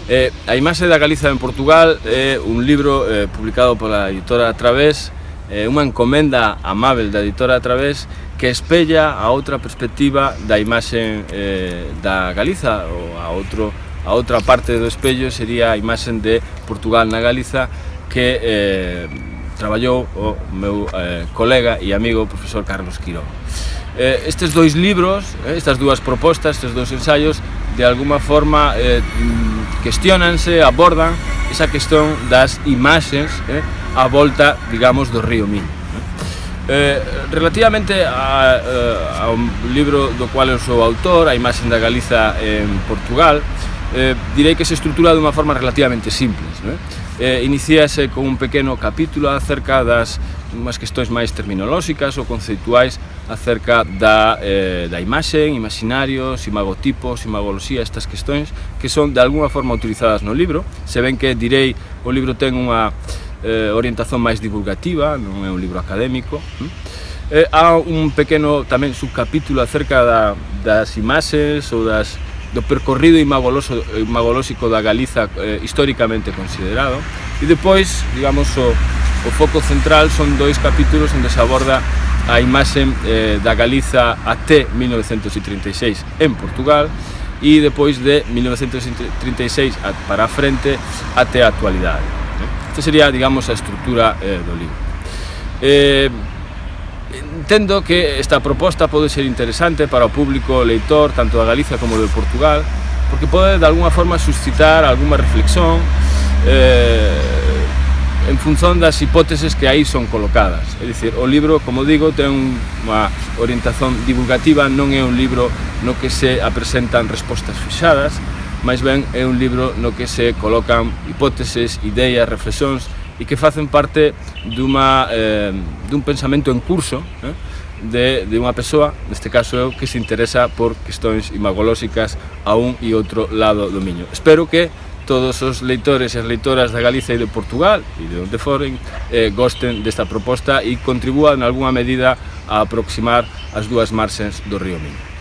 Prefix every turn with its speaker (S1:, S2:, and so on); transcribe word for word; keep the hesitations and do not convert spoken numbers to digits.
S1: Eh, a imaxe da Galiza en Portugal é un libro eh, publicado pola editora Través, eh, unha encomenda amável da editora Través que espella a outra perspectiva da imaxe eh, da Galiza, ou a, outro, a outra parte do espello sería a imaxe de Portugal na Galiza que eh, traballou o meu eh, colega e amigo o profesor Carlos Quirón. Eh, estes dois libros, eh, estas dúas propostas, estes dous ensaios, de alguma forma eh, cuestionanse, abordan esa cuestión das imaxes eh, a volta, digamos, do río Miño. Eh, relativamente a, eh, ao libro do cual eu sou autor, a imaxe da Galiza en Portugal, eh, direi que se estrutura de unha forma relativamente simples, non é? Eh, Inicíase con un pequeno capítulo acerca das unhas questões máis terminolóxicas ou conceituais acerca da, eh, da imaxe, imaginarios, imagotipos, imagoloxía, estas questões que son de alguna forma utilizadas no libro. Se ven que, direi, o libro ten unha eh, orientación máis divulgativa, non é un libro académico. Eh, há un pequeno tamén subcapítulo acerca da, das imaxes ou das do percorrido imagolóxico da Galiza eh, históricamente considerado, e depois, digamos, o, o foco central son dois capítulos onde se aborda a imaxe eh, da Galiza até mil novecentos trinta e seis en Portugal e depois de mil novecentos trinta e seis para a frente até a actualidade. Esta sería, digamos, a estrutura eh, do libro. Eh, Entendo que esta proposta pode ser interesante para o público leitor tanto da Galiza como de Portugal, porque pode de alguna forma suscitar alguma reflexión eh, en función das hipóteses que aí son colocadas. É dicir, o libro, como digo, ten unha orientación divulgativa, non é un libro no que se apresentan respostas fixadas, máis ben é un libro no que se colocan hipóteses, ideas, reflexións e que facen parte dun eh, pensamento en curso eh, de, de unha persoa, neste caso eu, que se interesa por questões imagolóxicas a un e outro lado do Miño. Espero que todos os leitores e as leitoras da Galiza e de Portugal e de onde foren eh, gosten desta proposta e contribúan en algunha medida a aproximar as dúas marxes do río Miño.